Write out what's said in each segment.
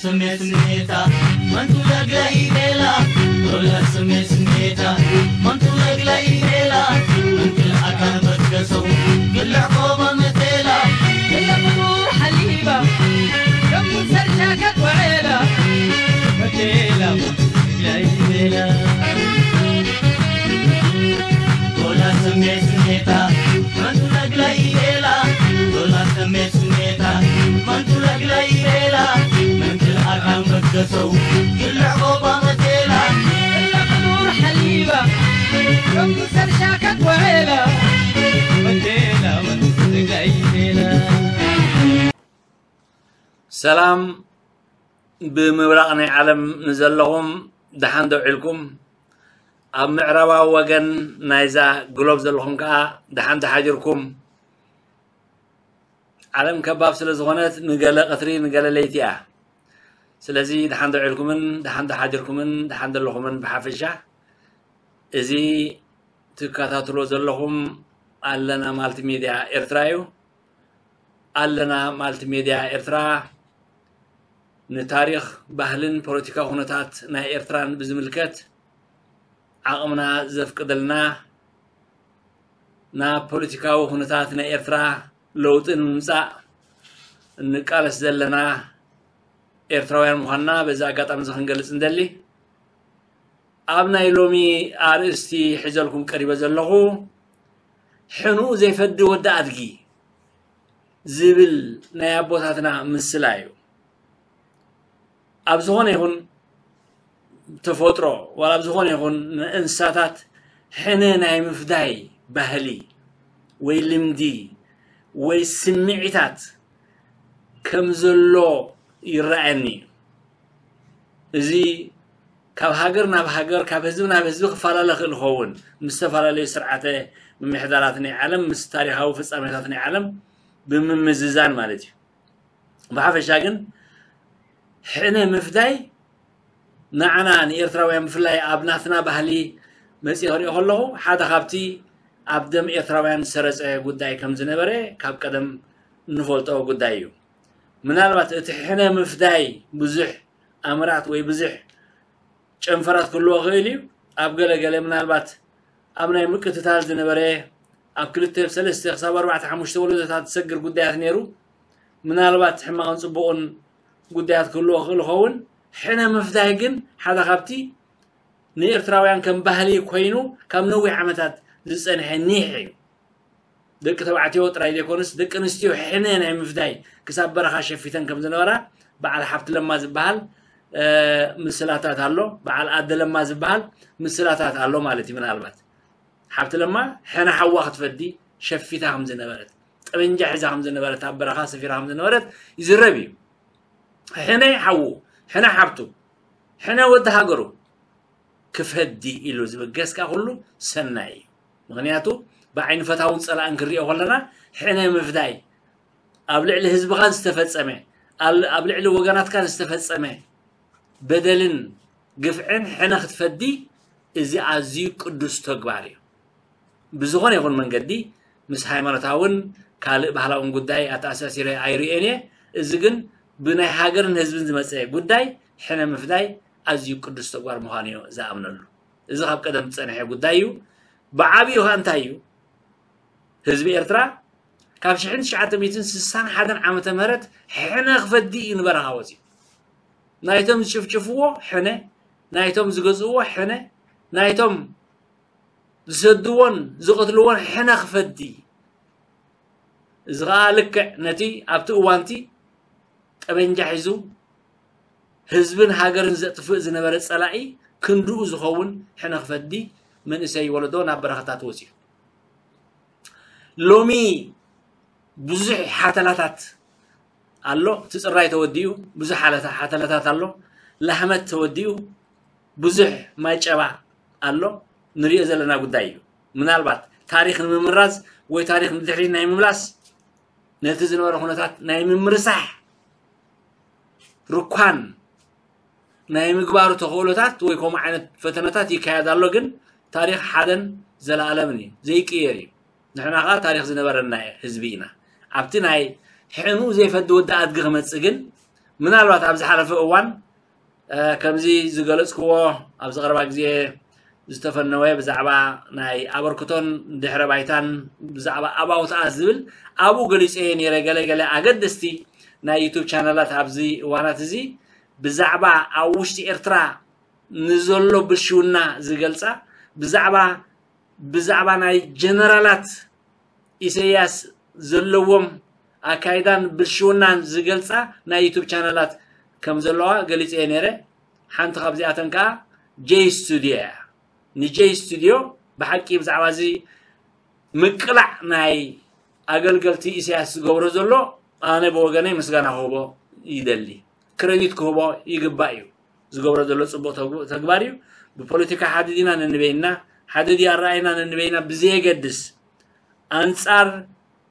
ስሜት ስሜታ መንቱ ለግላ ኢቤላ ዶላ ስሜት ስሜታ መንቱ ለግላ ኢቤላ መንክል ኣካል በትከሰው ግልዕ ቆባ መቴላ ግልዕ ቁዱር ሓሊባ ከም ሰርሻ ከትወዕላ መቴላ መንቱ ለግላ ኢቤላ ዶላ ስሜት ስሜታ መንቱ ለግላ ኢቤላ ዶላ ስሜት ስሜታ መንቱ ለግላ ኢቤላ መንክል ኣካል በትከሰው ግልዕ ቆባ መቴላ ግልዕ ቁዱር ሓሊባ ከም ሰርሻ ከትወዕላ መቴላ መንቱ ለግላ ኢቤላ ሰላም ብምብራቕ ናይ ዓለም ንዘለኹም ደሓን ዶ ውዒልኩም? ኣብ ምዕራባዊ ወገን ናይዛ ግሎብ ዘለኹም ከኣ ደሓን ዶ ሓዲርኩም? ዓለም ከባብ ስለ ዝኾነት ንገለ ቀትሪ ንገለ ለይቲ እያ። ስለዚ ደሓን ዶ ውዒልኩምን ደሓን ዶ ሓዲርኩምን ደሓን ዶ ኣለኹምን ብሓፈሻ። እዚ ትከታተሎ ዘለኹም ኣለና ማልቲ ሜድያ ኤርትራ እዩ። ኣለና ማልቲ ሜድያ ኤርትራ ንታሪኽ፣ ባህልን ፖለቲካዊ ኩነታት ናይ ኤርትራን ብዝምልከት ዓቕምና ዘፍቅደልና ናብ ፖለቲካዊ ኩነታት ናይ ኤርትራ ለውጢ ንምምጻእ እንቃለስ ዘለና ኤርትራውያን ምዃንና በዚ ኣጋጣሚ እዚ ክንገልጽ እንደሊ። ኣብ ናይ ሎሚ ኣርእስቲ ሒዘልኩም ቀሪበ ዘለኹ ሕኑኡ ዘይፈዲ ወዲ ኣድጊ ዝብል ናይ ኣቦታትና ምስላ እዩ። ኣብ ዝኾነ ይኹን ተፈጥሮ ዋላ ኣብ ዝኾነ ይኹን እንስሳታት ሕነ ናይ ምፍዳይ ባህሊ ወይ ልምዲ ወይ ስምዒታት ከም ዘሎ ይረኣየኒ እዩ። እዚ ካብ ሃገር ናብ ሃገር ካብ ህዝቢ ናብ ህዝቢ ክፈላለ ክእል ይኸውን ምስ ዝተፈላለዩ ስርዓተ ምምሕዳራት ናይ ዓለም ምስ ታሪኻዊ ፍጻሜታት ናይ ዓለም ብምምዝዛን ማለት እዩ። ብሓፈሻ ግን ሕነ ምፍዳይ ንዓና ንኤርትራውያን ብፍላይ ኣብ ናትና ባህሊ መጺእ ክሪኦ ከለኹ ሓደ ካብቲ ኣብ ደም ኤርትራውያን ዝሰረጸ ጉዳይ ከም ዝነበረ ካብ ቀደም እንፈልጦ ጉዳይ እዩ። ምናልባት እቲ ሕነ ምፍዳይ ብዙሕ ኣምራት ወይ ብዙሕ ጨንፈራት ክህልዎ ክእል እዩ። ኣብ ገለ ገለ ምናልባት ኣብ ናይ ምቅትታል ዝነበረ ኣብ ክልተ ሰለስተ ክሳብ ኣርባዕተ ሓሙሽተ ወለዶታት ዝሰግር ጉዳያት ነይሩ። ምናልባት ሕማቕን ጽቡቕን ጉዳያት ክህልዎ ክእል ይኸውን። ሕነ ምፍዳይ ግን ሓደ ካብቲ ንኤርትራውያን ከም ባህሊ ኮይኑ ካብ ነዊሕ ዓመታት ዝጸንሐ ኒሕ እዩ። ደቂ ተባዕትዮ ጥራይ ዘይኮኑስ ደቂ ኣንስትዮ ሕነ ናይ ምፍዳይ ክሳብ በረኻ ሸፊተን ከም ዝነበራ በዓል ሓብቲ ለማ ዝበሃል ምስላታት ኣሎ። በዓል ኣደ ለማ ዝበሃል ምስላታት ኣሎ ማለት እዩ። ምናልባት ሓብቲ ለማ ሕነ ሓዋ ክትፈዲ ሸፊታ ከም ዝነበረት፣ ጠበንጃ ሒዛ ከም ዝነበረት፣ ኣብ በረኻ ሰፊራ ከም ዝነበረት ይዝረብ እዩ። ሕነ ሓዉ፣ ሕነ ሓብቱ፣ ሕነ ወዲ ሃገሩ ክፈዲ ኢሉ ዝብገስ ከኣ ኩሉ ሰናይ እዩ። ምኽንያቱ ብዓይኒ ፈታውን ጸላእን ክንሪኦ ከለና ሕነ ምፍዳይ ኣብ ልዕሊ ህዝብኻን ዝተፈጸመ ኣብ ልዕሊ ወገናትካን ዝተፈጸመ በደልን ግፍዕን ሕነ ክትፈዲ እዚ ኣዝዩ ቅዱስ ተግባር እዩ። ብዝኾነ ይኹን መንገዲ ምስ ሃይማኖታውን ካልእ ባህላውን ጉዳይ ኣተኣሳሲረ ኣይርእዮን እየ። እዚ ግን ብናይ ሃገርን ህዝብን ዝመጸ ጉዳይ ሕነ ምፍዳይ ኣዝዩ ቅዱስ ተግባር ምዃኑ እየ ዝኣምነሉ። እዚ ካብ ቀደም ዝጸንሐ ጉዳይ እዩ። ብዓብዩ ከ እንታይ እዩ? ህዝቢ ኤርትራ ካብ ሽሕን ትሽዓተ ሚእትን ስሳን ሓደን ዓመተ ምህረት ሕነ ክፈዲ እዩ ንበረኻ ወፂኡ። ናይቶም ዝጭፍጭፍዎ ሕነ፣ ናይቶም ዝገዝእዎ ሕነ፣ ናይቶም ዝሰድዎን ዝቐትልዎን ሕነ ክፈዲ። እዚ ኸዓ ልክዕ ነቲ ኣብቲ እዋንቲ ጠበንጃ ሒዙ ህዝብን ሃገርን ዘጥፍእ ዝነበረ ጸላኢ ክንድኡ ዝኸውን ሕነ ክፈዲ መንእሰይ ወለዶ ናብ በረኻታት ወፂኡ። ሎሚ ብዙሕ ሓተላታት ኣሎ። እቲ ጽራይ ተወዲኡ ብዙሕ ሓለታ ሓተላታት ኣሎ። ላህመት ተወዲኡ ብዙሕ ማይ ጨባ ኣሎ። ንሪኦ ዘለና ጉዳይ እዩ። ምናልባት ታሪኽ ንምምራዝ ወይ ታሪኽ ንድሕሪት ናይ ምምላስ ነቲ ዝነበረ ኩነታት ናይ ምምርሳሕ ርኳን ናይ ምግባሩ ተኽእሎታት ወይ ከምኡ ዓይነት ፈተነታት ይካየድ ኣሎ። ግን ታሪኽ ሓደን ዘለኣለምን እዩ፣ ዘይቅየር እዩ። ንሕና ኸዓ ታሪኽ ዝነበረና ህዝቢ ኢና። ኣብቲ ናይ ሕኑ ዘይፈዲ ወዲ ኣድጊ ክመጽእ ግን ምናልባት ኣብ ዝሓለፈ እዋን ከምዚ ዝገለፅክዎ ኣብዚ ቀረባ ግዜ ዝተፈነወ ብዛዕባ ናይ ኣበርክቶን ድሕረ ባይታን ብዛዕባ ኣባውትኣ ዝብል ኣብኡ ገሊፀ ነይረ። ገለገለ ኣገደስቲ ናይ ዩቱብ ቻነላት ኣብዚ እዋናት እዚ ብዛዕባ ኣብ ውሽጢ ኤርትራ ንዘሎ ብልሽውና ዝገልፃ ብዛዕባ ብዛዕባ ናይ ጀነራላት ኢሰያስ ዘለዎም ኣካይዳን ብልሽውናን ዝገልፃ ናይ ዩቱብ ቻነላት ከም ዘለዋ ገሊፀ እየ ነይረ። ሓንቲ ካብዚኣተን ከዓ ጀይ ስቱዲዮ እያ። ንጀይ ስቱዲዮ ብሓቂ ብዛዕባ እዚ ምቅላዕ ናይ ኣገልገልቲ ኢሳያስ ዝገብሮ ዘሎ ኣነ ብወገነይ ምስጋና ክህቦ ይደሊ፣ ክረዲት ክህቦ ይግባእ እዩ። ዝገብሮ ዘሎ ፅቡቅ ተግባር እዩ። ብፖለቲካ ሓደ ዲና ነንበይና፣ ሓደ ድዩ ኣረኣይና ነንበይና ብዘየገድስ ኣንፃር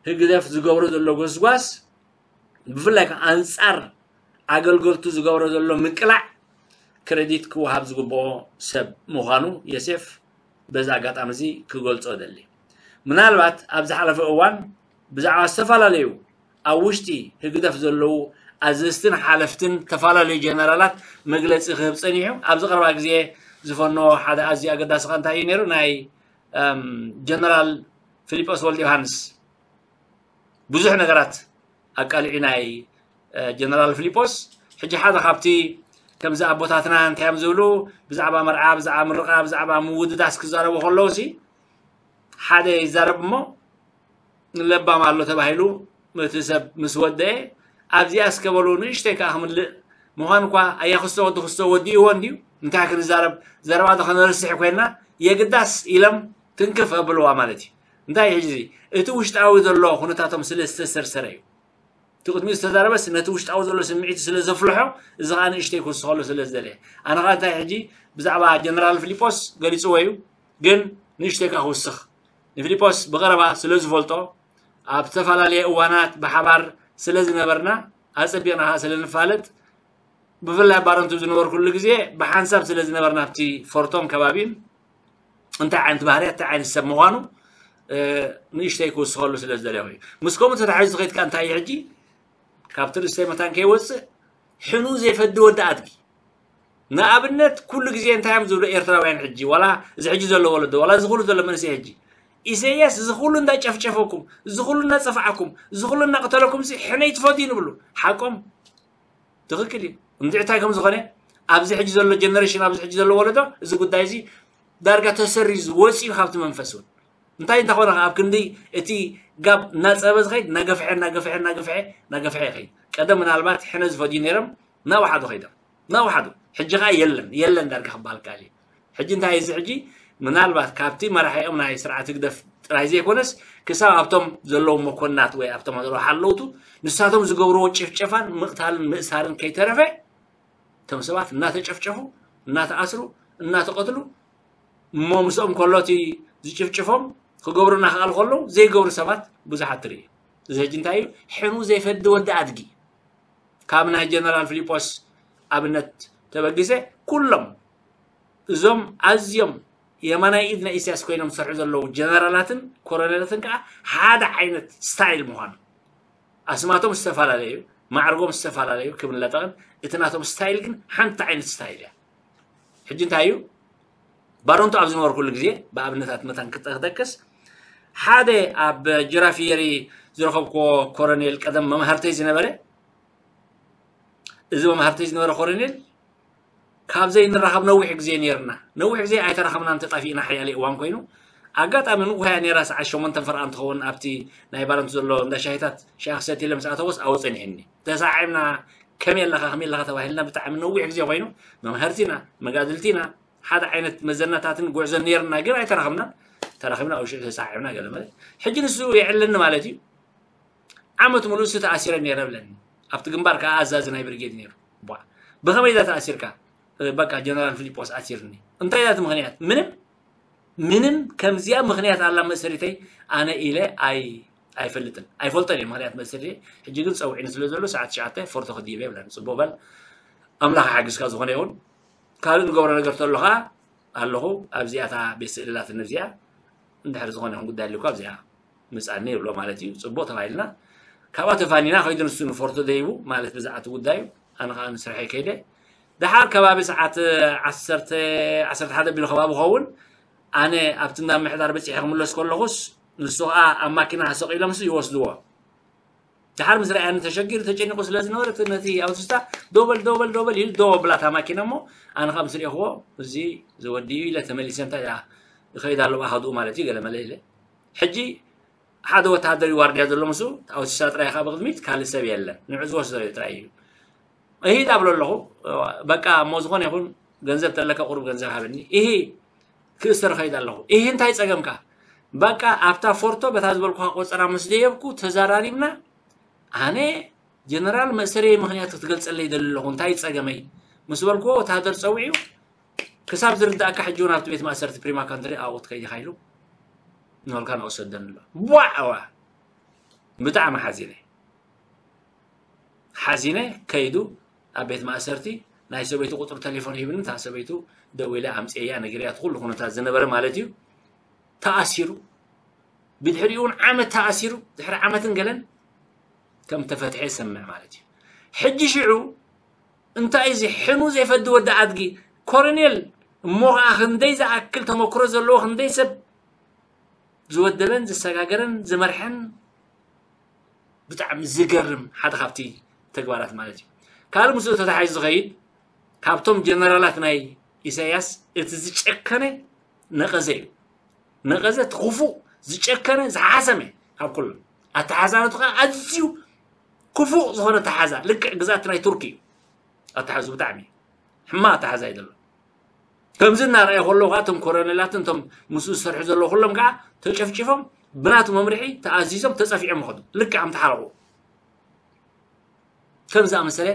ህግደፍ ዝገብሮ ዘሎ ጎስጓስ ብፍላይ ከዓ ኣንፃር ኣገልገልቱ ዝገብሮ ዘሎ ምቅላዕ ክረዲት ክወሃብ ዝግብኦ ሰብ ምዃኑ የሴፍ በዚ ኣጋጣሚ እዚ ክገልጾ እደሊ። ምናልባት ኣብ ዝሓለፈ እዋን ብዛዕባ ዝተፈላለዩ ኣብ ውሽጢ ህግደፍ ዘለዉ ኣዘዝትን ሓለፍትን ተፈላለዩ ጀነራላት መግለጺ ክህብ ጸኒሑ ኣብዚ ቀረባ ግዜ ዝፈነዎ ሓደ ኣዝዩ ኣገዳሲ ከ እንታይ እዩ ነይሩ ናይ ጀነራል ፊሊጶስ ወልደ ዮሃንስ ብዙሕ ነገራት ኣቃሊዑ ናይ ጀነራል ፊሊጶስ ሕጂ ሓደ ካብቲ ከምዚ ኣቦታትና እንታይ እዮም ዝብሉ ብዛዕባ መርዓ ብዛዕባ ምርቃ ብዛዕባ ምውድዳስ ክዛረቡ ከለዉ ሲ ሓደ ይዛረብ እሞ ለባም ኣሎ ተባሂሉ እቲ ሰብ ምስ ወደአ ኣብዚኣ እስከ በሉ ንእሽተይ ከዓ ክምልእ ምዃን እኳ ኣያ ክስቶ ወዲ ክስቶ ወዲእዎ እንድዩ እንታይ ክንዛረብ ዘረባ ዶ ከነርስሕ ኮይና የግዳስ ኢሎም ትንክፍ ኣብልዋ ማለት እዩ እንታይ ሕጂ እቲ ውሽጣዊ ዘሎ ኩነታቶም ስለ ዝተሰርሰረ እዩ እቲ ቅድሚኡ ዝተዛረበስ ነቲ ውሽጣዊ ዘሎ ስምዒት ስለ ዘፍልሖ እዚ ከዓ ንእሽተይ ክውስኸሉ ስለ ዝደለየ ኣነ ከዓ እንታይ ሕጂ ብዛዕባ ጀነራል ፊሊጶስ ገሊፅዎ እዩ ግን ንእሽተይ ከዓ ክውስኽ ንፊሊጶስ ብቐረባ ስለ ዝፈልጦ ኣብ ዝተፈላለየ እዋናት ብሓባር ስለ ዝነበርና ኣፀቢቕና ከዓ ስለ ንፋለጥ ብፍላይ ባረንቱ ዝነበርኩሉ ግዜ ብሓንሳብ ስለ ዝነበርና ኣብቲ ፎርቶን ከባቢን እንታይ ዓይነት ባህርያት እንታይ ዓይነት ሰብ ምዃኑ ንእሽተይ ክውስኸሉ ስለ ዝደለኹ እዩ ምስ ከምኡ ተታሒዙ ዝኸይድካ እንታይ እዩ ሕጂ ካብቲ ርእሰይ መታን ከይወፅእ ሕኑ ዘይፈዲ ወዲ ኣድጊ ንኣብነት ኩሉ ግዜ እንታይ እዮም ዝብሉ ኤርትራውያን ሕጂ ዋላ እዚ ሕጂ ዘሎ ወለዶ ዋላ እዚ ኩሉ ዘሎ መንእሰይ ሕጂ ኢሰያስ እዚ ኩሉ እንዳጨፍጨፈኩም እዚ ኩሉ እናፀፋዓኩም እዚ ኩሉ እናቅተለኩም ሕነይ ትፈትዩ ንብሉ ሓቆም ትኽክል እዩ እንድዒ እንታይ ከም ዝኾነ ኣብዚ ሕጂ ዘሎ ጀነሬሽን ኣብዚ ሕጂ ዘሎ ወለዶ እዚ ጉዳይ እዚ ዳርጋ ተሰሪዙ ወፂኡ ካብቲ መንፈስ እውን እንታይ እንተኾነ ኣብ ክንዲ እቲ ጋብ እናፀበ ዝኸይድ እናገፍሐ እናገፍሐ እናገፍሐ እናገፍሐ ይኸይድ ቀደም ምናልባት ሕነ ዝፈድዩ ነይሮም እናወሓዱ ኸይዶም እናወሓዱ ሕጂ ከዓ የለን የለን ዳርጋ ክበሃል ከኣል እዩ ሕጂ እንታይ እዚ ሕጂ ምናልባት ካብቲ መራሒኦም ናይ ስርዓት ህግደፍ ጥራይ ዘይኮነስ ክሳብ ኣብቶም ዘለዉ መኮንናት ወይ ኣብቶም ዘለዉ ሓለውቱ ንሳቶም ዝገብርዎ ጭፍጨፋን ምቕታልን ምእሳርን ከይተረፈ እቶም ሰባት እናተጨፍጨፉ እናተኣስሩ እናተቐትሉ እሞ ምስኦም ከሎ እቲ ዝጭፍጭፎም ክገብሩ እናክኣል ከለዉ ዘይገብሩ ሰባት ብዙሓት ትርኢ እዚ ሕጂ እንታይ እዩ ሕኑ ዘይፈዲ ወዲ ኣድጊ ካብ ናይ ጀነራል ፊሊጶስ ኣብነት ተበጊሰ ኩሎም እዞም ኣዝዮም የማናይ ኢድ ናይ ኢሳያስ ኮይኖም ዝሰርሑ ዘለዉ ጀነራላትን ኮረኔላትን ከዓ ሓደ ዓይነት ስታይል ምዃኑ ኣስማቶም ዝተፈላለዩ ማዕርጎም ዝተፈላለዩ ክብን ለጠቕን እቲ ናቶም ስታይል ግን ሓንቲ ዓይነት ስታይል እያ ሕጂ እንታይ እዩ ባሮንቱ ኣብ ዝነበርኩሉ ግዜ ብኣብነታት መታን ክጠቅስ ሓደ ኣብ ጅራፊየሪ ዝረኸብክዎ ኮረኔል ቀደም መምሃርተይ ዝነበረ እዚ መምሃርተይ ዝነበረ ኮረኔል ካብ ዘይንራኸብ ነዊሕ ግዜ ነይርና ነዊሕ ግዜ ኣይተራኸብናን ተጣፊእና ሓያለ እዋን ኮይኑ ኣጋጣሚ ንቑሃያ ነይራ ሰዓት ሸሞንተ ፈርቓን ትኸውን ኣብቲ ናይ ባረንቱ ዘሎ እንዳ ሻሂታት ሻሂ ክሰትየለ ምስ ኣተወስ ኣብኡ ጸኒሕኒ ተሳዒምና ከመይ ኣለኻ ከመይ ኣለኻ ተባሂልና ብጣዕሚ ነዊሕ ግዜ ኮይኑ መምሃርቲና መጋድልቲና ሓደ ዓይነት መዘናታትን ጉዕዞን ነይርና ግን ኣይተራኸብናን ተራኺብና ኣብ ሽዑ ተሳዒምና ገለ ማለት ሕጂ ንሱ የዕለኒ ማለት እዩ ዓመት ሙሉእ ሲ ተኣሲረ ነይረ ብለኒ ኣብቲ ግንባር ከዓ ኣዛዚ ናይ ብርጌድ ነይሩ ቧ ብኸመይ ዛ ተኣሲርካ በቃ ጀነራል ፊሊጶስ ኣሲርኒ እንታይ ዛቲ ምክንያት ምንም ምንም ከምዚኣ ምክንያት ኣላ መእሰሪተይ ኣነ ኢለ ኣይ ኣይፈልጥን ኣይፈልጦን እየ ምክንያት መእሰሪተይ ሕጂ ግን ፀውዒኒ ስለ ዘሎ ሰዓት ትሽዓተ ፎርቶ ክድይበ ይብለኒ ፅቡቅ በል ኣምላኽ ሓግዝካ ዝኾነ ይኹን ካልእ ንገብሮ ነገር ተሎ ከዓ ኣለኹ ኣብዚኣ እታ ቤት ስእልላት ንብዚኣ እንድሕር ዝኾነ ይኹን ጉዳይ ኣለኩ ኣብዚኣ ምፃኒ ይብሎ ማለት እዩ ፅቡቅ ተባሂልና ካብኣ ተፋኒና ከይዱ ንሱ ንፎርቶ ደይቡ ማለት ብዛዕባ እቲ ጉዳዩ ኣነ ከዓ ንስርሐይ ከይደ። ደሓር ከባቢ ሰዓት ዓሰርተ፣ ዓሰርተ ሓደ ቢሉ ከባቢ ኸውን፣ ኣነ ኣብቲ እንዳ ምሕዳር በፂሐ ክምለስ ከለኹስ፣ ንሱ ከዓ ኣብ ማኪና ሰቂሎምስ ይወስድዎ። ደሓር ምስ ረኣየኒ ተሸጊሩ ተጨኒቑ ስለ ዝነበረ፣ እቲ ነቲ ኣውቲስታ ደው በል፣ ደው በል፣ ደው በል ኢሉ ደው ኣብላታ ማኪና እሞ፣ ኣነ ከዓ ምስ ርኤኽዎ፣ እዚ ዝወዲ እዩ ኢለ ተመሊሰ፣ እንታይ ደኣ ይኸይድ ኣሎ ብኣሃዱኡ ማለት እዩ፣ ገለ መለ ኢለ። ሕጂ ሓደ ወተሃደር እዩ ዋርድያ ዘሎ ምስኡ፣ ኣውቲስታ ጥራይ ከዓ ብቕድሚት፣ ካልእ ሰብ የለን። ንዑ ዝወስዶ እዩ ጥራይ እዩ። እሂ ዳብሎ ኣለኹ፣ በቃ እሞ ዝኾነ ይኹን ገንዘብ ተለካ ቁሩብ ገንዘብ ሃበኒ። እሂ ክእሰር እኸይድ ኣለኹ። እሂ እንታይ ጸገምካ? በቃ ኣብታ ፎርቶ በታ ዝበልኩኻ ቆጸራ ምስ ደየብኩ ተዘራሪብና። ኣነ ጀነራል መእሰረይ ምኽንያት ክትገልጸለይ ይደሊ ኣለኹ። እንታይ ጸገመይ? ምስ በልኩዎ ወተሃደር ጸዊዑ ክሳብ ዝርድኣካ ሕጂ እውን ኣብቲ ቤት ማእሰርቲ ፕሪማ ካንትሪ ኣብኡ ክትከይድ ኢኻ ኢሉ ንበልካ ንወሰደኒ ኣሎ። ቧዕ! ዋ! ብጣዕሚ ሓዚነ። ሓዚነ ከይዱ ኣብ ቤት ማእሰርቲ ናይ ሰበይቱ ቁፅሪ ቴሌፎን ሂብኒ፣ እታ ሰበይቱ ደዊለ ኣምፅየያ ነጊረያ፣ እቲ ኩሉ ኩነታት ዝነበረ ማለት እዩ። ተኣሲሩ፣ ብድሕሪኡ እውን ዓመት ተኣሲሩ፣ ድሕሪ ዓመትን ገለን ከም ተፈትሐ ይሰምዕ ማለት እዩ። ሕጂ ሽዑ እንታይ እዚ ሕኑ ዘይፈዲ ወዲ ኣድጊ ኮሎኔል እሞ ከዓ ክንደይ ዝኣክል ተመክሮ ዘለዎ ክንደይ ሰብ ዝወደበን ዝሰጋገረን ዝመርሐን ብጣዕሚ ዝገርም ሓደ ካብቲ ተግባራት ማለት እዩ። ካልእ ምስኡ ተታሓሒዙ ዝኸይድ ካብቶም ጀነራላት ናይ ኢሳያስ እቲ ዝጨከነ ነቐዘ እዩ። ነቐዘ እቲ ክፉእ ዝጨከነ ዝሓሰመ ካብ ኩሉ ኣተሓዛነቱ ከዓ ኣዝዩ ክፉእ ዝኾነ ኣተሓዛ ልክዕ ግዛት ናይ ቱርኪ እዩ። ኣተሓዙ ብጣዕሚ ሕማቕ ኣተሓዛ እዩ ዘሎ። ከምዚ እናረኣየ ከሎ ከዓ እቶም ኮሎኔላትን እቶም ምስኡ ዝሰርሑ ዘለዉ ኩሎም ከዓ ተጨፍጭፎም ብናቱ መምርሒ ተኣዚዞም ተፀፊዖም ይኸዱ። ልክዕ ከም ተሓረቑ ከም ዝኣመሰለ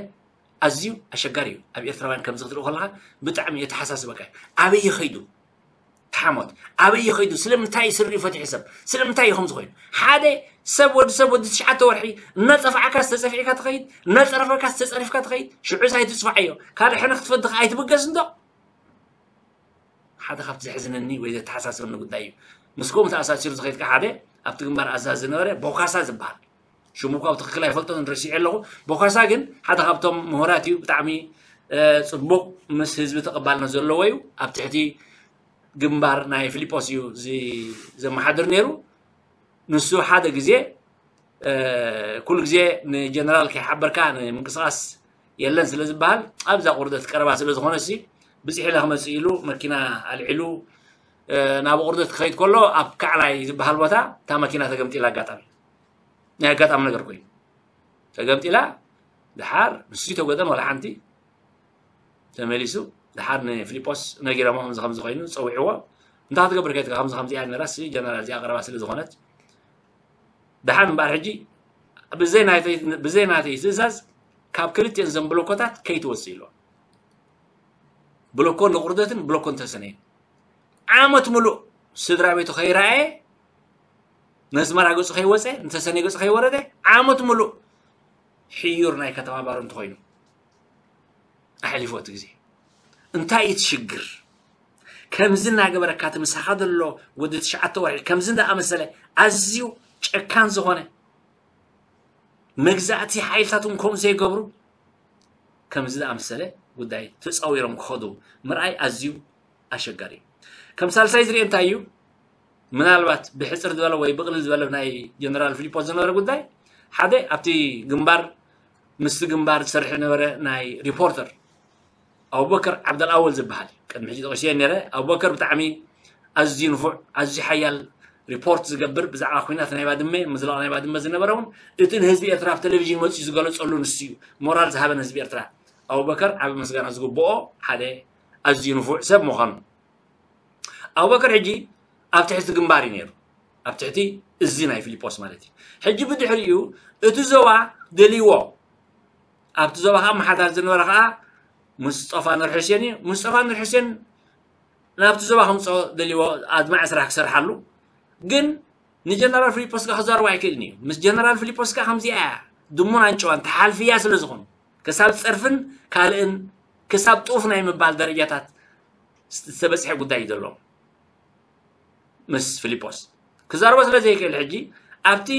ኣዝዩ ኣሸጋሪ እዩ። ኣብ ኤርትራውያን ከምዚ ክትርኢ ከለኻ ብጣዕሚ የተሓሳስበካ እዩ። ኣበይ ይኸይዱ? ተሓሞት ኣበይ ይኸይዱ? ስለምንታይ ስሪኡ ፈትሑ ሰብ? ስለምንታይ እዩ ከምዚ ኮይኑ? ሓደ ሰብ ወዲ ሰብ ወዲ ትሽዓተ ወርሒ እናጸፍዓካ ዝተጸፊዕካ ትኸይድ፣ እናጸረፈካ ዝተጸሪፍካ ትኸይድ። ሽዑ ሳይ ትጽፋዓዮ ካልእ ሕነ ክትፈዲ ከኣ ኣይትብገስ እንዶ። ሓደ ካብቲ ዘሕዝነኒ ወይ ዘተሓሳስበኒ ጉዳይ እዩ። ምስ ከምኡ ተኣሳሲሩ ዝኸይድካ ሓደ ኣብቲ ግንባር ኣዛዚ ዝነበረ ቦካሳ ዝበሃል ሽሙ እኳ ብትኽክል ኣይፈልጦን ረሲዐ ኣለኹ። ቦካሳ ግን ሓደ ካብቶም ምሁራት እዩ። ብጣዕሚ ጽቡቕ ምስ ህዝቢ ተቐባልነት ዘለዎ እዩ። ኣብ ትሕቲ ግንባር ናይ ፊሊጶስ እዩ ዘመሓድር ነይሩ። ንሱ ሓደ ግዜ ኩሉ ግዜ ንጀነራል ከይሓበርካ ንምንቅስቃስ የለን ስለ ዝበሃል ኣብዛ ቁርደት ቀረባ ስለ ዝኾነ ሲ ብፅሒ ኢለ ክመፅእ ኢሉ መኪና ኣልዒሉ ናብ ቁርደት ክኸይድ ከሎ ኣብ ካዕላይ ዝበሃል ቦታ እታ መኪና ተገምጢላ ኣጋጣሚ ናይ ኣጋጣሚ ነገር ኮይኑ ተገምጢላ ድሓር ንሱ ተጎደን ወላ ሓንቲ ተመሊሱ ድሓር ንፊሊጶስ ነጊሮሞ ከምዚ ከምዚ ኮይኑ ፀዊዕዎ እንታይ ክትገብር ከይትካ ከምዚ ከምዚ እያ ነራሲ ጀነራል እዚኣ ቀረባ ስለ ዝኾነት ድሓር እምበኣር ሕጂ ብዘይ ናተይ ትእዛዝ ካብ ክልቲኦን ዘን ብሎኮታት ከይትወፅእ ኢልዎ ብሎኮ ንቁርደትን ብሎኮ ንተሰነይን ዓመት ሙሉእ ስድራ ቤቱ ከይረኣየ ነስመራ ገፁ ከይወፀ ንተሰነይ ገፁ ከይወረደ ዓመት ሙሉእ ሕዩር ናይ ከተማ ባሮ እንተኮይኑ ኣሕሊፎ እቲ ግዜ እንታይ እዩ ትሽግር ከምዚ እናገበረካ እቲ ምሳኻ ዘሎ ወዲ ትሽዓተ ወርሒ ከምዚ እንዳኣመሰለ ኣዝዩ ጨካን ዝኾነ መግዛእቲ ሓይልታት እውን ከምኡ ዘይገብሩ ከምዚ ዝኣመሰለ ጉዳይ ተፃዊሮም ክኸዱ ምርኣይ ኣዝዩ ኣሸጋሪ እዩ። ከም ሳልሳይ ዝሪኦ እንታይ እዩ? ምናልባት ብሕፅር ዝበለ ወይ ብቕልል ዝበለ ናይ ጀነራል ፊሊፖስ ዝነበረ ጉዳይ ሓደ ኣብቲ ግንባር ምስቲ ግንባር ዝሰርሕ ዝነበረ ናይ ሪፖርተር ኣቡበከር ዓብደልኣወል ዝበሃል ቅድሚ ሕጂ ጠቂሰዮ ነረ ኣቡበከር ብጣዕሚ ኣዝዩ ንፉዕ ኣዝዩ ሓያል ሪፖርት ዝገብር ብዛዕባ ኩናት ናይ ባድመ ምዝላቕ ናይ ባድመ ዝነበረ እውን እቲ ንህዝቢ ኤርትራ ኣብ ቴሌቪዥን መፅኡ ዝገለፀሉ ንሱ እዩ ሞራል ዝሃበን ህዝቢ ኤርትራ ኣቡበከር ዓብ ምስጋና ዝግብኦ ሓደ ኣዝዩ ንፉዕ ሰብ ምዃኑ ኣቡበከር ሕጂ ኣብ ትሕቲ ግንባር እዩ ነይሩ ኣብ ትሕቲ እዚ ናይ ፊሊጶስ ማለት እዩ ሕጂ ብድሕሪኡ እቲ ዞባ ደልይዎ ኣብቲ ዞባ ከዓ መሓዳር ዝነበረ ከዓ ሙስጠፋ ኑር ሕሴን እዩ ሙስጠፋ ኑር ሕሴን ናብቲ ዞባ ከምፅኦ ደልይዎ ኣድማዒ ስራሕ ክሰርሓሉ ግን ንጀነራል ፊሊፖስ ጋር ክዛረቡ ኣይክእልን እዩ ምስ ጀነራል ፊሊፖስ ጋር ከምዚኣ እያ ድሙን ኣንጨዋን ተሓልፍያ ስለ ዝኾኑ ክሳብ ፀርፍን ካልእን ክሳብ ጡፍ ናይ ምባል ደረጃታት ዝተበፅሐ ጉዳይ እዩ ዘለዎም ምስ ፊሊፖስ ክዛረቦ ስለ ዘይክእል ሕጂ ኣብቲ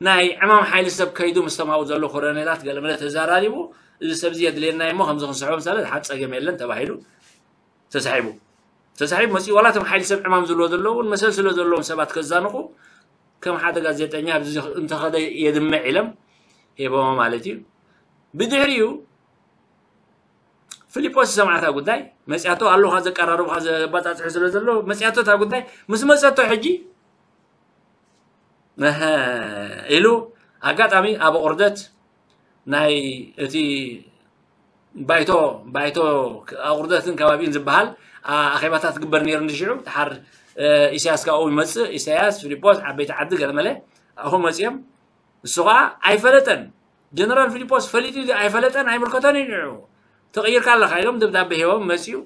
ናይ ዕማም ሓይሊ ሰብ ከይዱ ምስ ተማኡ ዘሎ ኮረኔላት ገለመለ ተዘራሪቡ እዚ ሰብዚ የድልየና እሞ ከምዚ ክንስሕቦ ምሳለ ሓንቲ ጸገም የለን ተባሂሉ ተሳሒቡ። ተሳሒቡ መጺኡ ዋላ እቶም ሓይሊ ሰብ ዕማም ዝብሎ ዘለዉ እውን መሰል ስለ ዘለዎም ሰባት ከዛንቑ ከም ሓደ ጋዜጠኛ ኣብዚ እንተኸደ የድምዕ ኢሎም ሂቦሞ ማለት እዩ። ብድሕሪኡ ፊሊጶስ ዝሰምዓታ ጉዳይ መጽያቶ ኣለኻ ዘቀራረብካ ዘባጻጽሑ ስለ ዘሎ መጽያቶ እታ ጉዳይ ምስ መጸቶ ሕጂ እህ ኢሉ ኣጋጣሚ ኣብ ቁርደት ናይ እቲ ባይቶ ባይቶ ኣቑርደትን ከባቢን ዝበሃል ኣኼባታት ግበር ነይሩ ንሽዑ ድሓር ኢሳያስ ካብኡ ይመፅእ ኢሳያስ ፊሊጶስ ዓበይቲ ዓዲ ገለመለ ኣብኡ መፅኦም ንሱ ከዓ ኣይፈለጠን ጀነራል ፊሊጶስ ፈሊጡ ኣይፈለጠን ኣይምልከቶን እዩ ንዑ ተቐይርካ ኣለካ ኢሎም ደብዳቤ ሂቦም መፅኡ